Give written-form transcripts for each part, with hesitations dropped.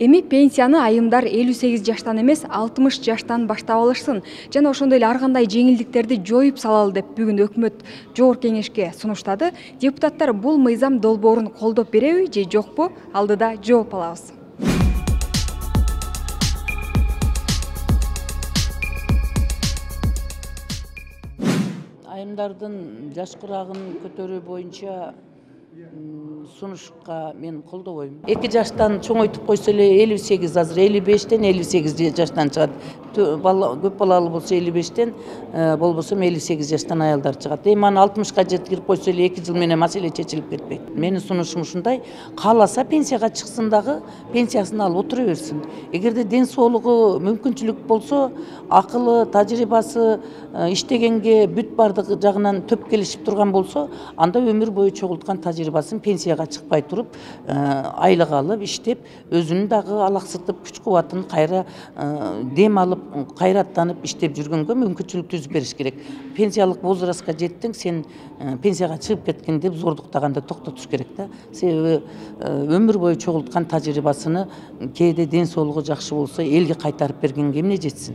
Эми пенсияны айымдар 58 жаштан эмес 60 жаштан баштап алышсын жана ошондой эле ар кандай жеңилдиктерди жоюп салалы деп бүгүн өкмөт Жогорку Кеңешке сунуштады. Депутаттар бул мыйзам долбоорун колдоп береби же жокпу? Алдыда жооп алабыз. Айымдардын жаш курагын көтөрүү боюнча сунушка мен колдобойм. 2 жаштан чоңойтуп койсо эле 58, азыр 55тен 58 жаштан чыгат. Көп балалы болсо 55тен, болбосо 58 жаштан аялдар чыгат. Эми аны 60ка жеткирип койсо эле 2 жыл менен маселе чечилип кетпейт. Менин сунушум ушундай: кааласа пенсияга чыксын дагы, пенсиясын алып отура берсин. Эгерде ден соолугу мүмкүнчүлүк болсо, акылы, тажрыйбасы, иштегенге бүт бардык жагынан төп келишип турган болсо, анда өмүр бою чогулткан тажрыйбасын пенсияга чыкпай туруп, айлык алып, иштеп, өзүнүн дагы алаксытып, күч кубатын кайра дем алып, кайраттанып иштеп жүргөнгө мүмкүнчүлүк түзүп бериш керек. Пенсиялык возрастка жеттиң, сен пенсияга чыгып кеткин деп зордуктаганды токтотуш керек да. Себеби өмүр бою чогулткан тажрыйбасыны кээде ден соолугу жакшы болсо элге кайтарып бергенге эмне жетсин?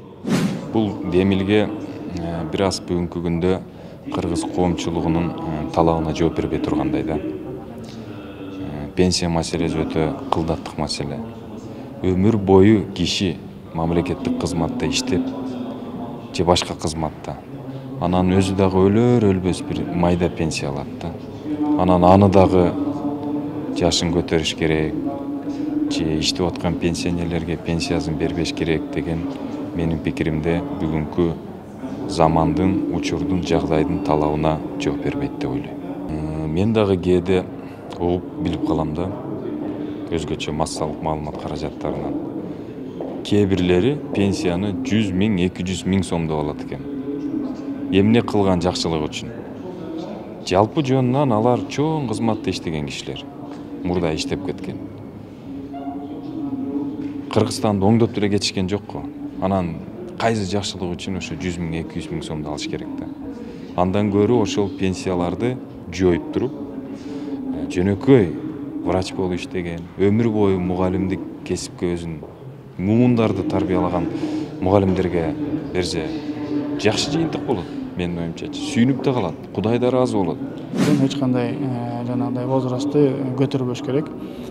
Бул демилге бир аз бүгүнкү күндө кыргыз коомчулугунун талабына жооп бербей тургандай да. Пенсия маселеси өтө кылдаттык маселе. Өмүр бою киши мамлекеттик кызматта иштеп же башка кызматта, анан өзү дагы өлөр өлбөс бир майда пенсия алат да. Анан аны дагы жашын көтөрүш керек же иштеп аткан пенсионерлерге пенсиясын бербеш керек деген менин пикиримде бүгүнкү замандын, учурдун, жагдайдын талабына жооп бербейт деп ойлойм. Мен дагы кээде угуп билип калам да, өзгөчө массалык маалымат каражаттарынан. Кээ бирлери пенсияны 100 миң, 200 миң сомдоп алат экен. Эмне кылган жакшылык үчүн? Жалпы жөнүнөн алар чоң кызматта иштеген кишилер, мурда иштеп кеткен. Кыргызстанды оңдоп деле кетишкен жокко. Анан кайсы жакшылык үчүн ошо 100 миң, 200 миң сомду алыш керек да. Андан көрө ошол пенсияларды жоюп туруп, жөнөкөй врач болуп иштеген, өмүр бою мугалимдик кесипке өзүн муумундарды тарбиялаган мугалимдерге берсе, жакшы жыйынтык болот. Менин оюмчачы сүйүнүп да калат, Кудай да ыраазы болот. Эч кандай жанагындай возрастты көтөрбөш керек.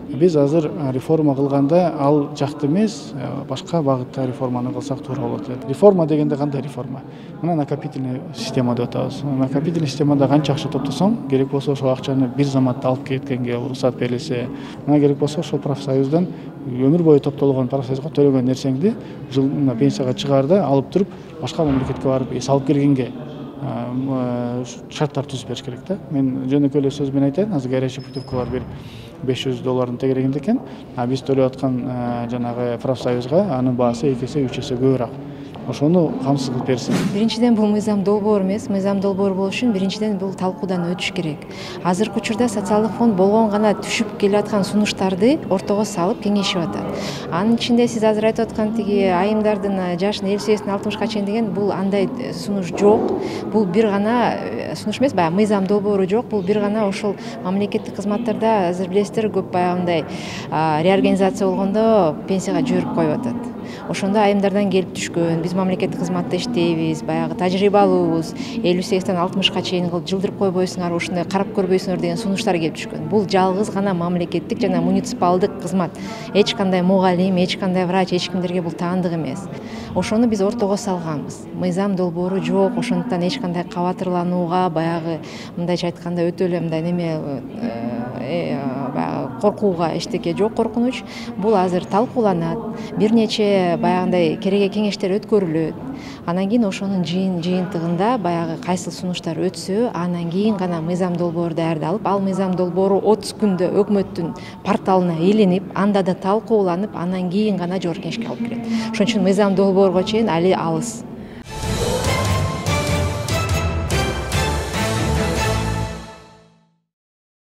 Биз азыр реформа кылганда ал жакты эмес, башка багытта реформаны кылсак туура болот. Реформа дегенде кандай реформа? Мына накопительный система деп атабыз. Накопительный системада канча акча топтосоң, керек болсо ошол акчаны бир заматта алып кеткенге уруксат берилсе, мына керек болсо ошол профсоюздан өмүр бою топтолгон профсоюзга төлөгөн нерсеңди жылына пенсияга чыгаарда алып туруп, башка мамлекетке барып эс алып келгенге шарттар түзүп бериш керек да. Мен жөнөкөй эле сөз менен айтайын, азыр горячий путевка бар бир $500 тегерегинде экен. Биз төлөп аткан жанагы профсоюзга анын баасы 2 эсе 3 эсе көбүрөөк. Ошону камсыз кылып берсин. Биринчиден бул мыйзам долбоор эмес, мыйзам долбоор болуш үчүн биринчиден бул талкуудан өтүш керек. Азыркы учурда социалдык фонд болгон гана түшүп келаткан сунуштарды ортого салып кеңешип атат. Анын ичинде сиз азыр айтып аткан тиги айымдардын жашын 58-тен 60ка чейин деген бул андай сунуш жок. Бул бир гана сунуш эмес, баягы мыйзам долбоору жок. Бул бир гана ошол мамлекеттик кызматтарда азыр билесиздер көп баягындай реорганизация болгондо пенсияга жиберип коюп атат. Ошондо айымдардан келип түшкөн, биз мамлекеттик кызматта иштейбиз, баягы тажрыйбалуубуз, 58-тен 60ка чейин кылып жылдырып койбойсуңар, ушундай карап көрбөйсүңөр деген сунуштар келип түшкөн. Бул жалгыз гана мамлекеттик жана муниципалдык кызмат. Эч кандай мугалим, эч кандай врач, эч кимдерге бул таандык эмес. Ошону биз ортого салганбыз. Мыйзам долбоору жок, ошондуктан эч кандай кабатырланууга, баягы мындайча айтканда өтө эле мындай неме баягы коркууга эчтеке жок, коркунуч. Бул азыр талкууланат. Бир нече баягындай кереге кеңештер өткөрүлөт. Анан кийин ошонун жыйынтыгында баягы кайсыл сунуштар өтсө, анан кийин гана мыйзам долбоору даярдалып, ал мыйзам долбоору 30 күндө өкмөттүн порталына илинип, анда да талкууланып, анан кийин гана Жогорку Кеңешке алып келет. Ошон үчүн мыйзам долбоорго чейин али алыс.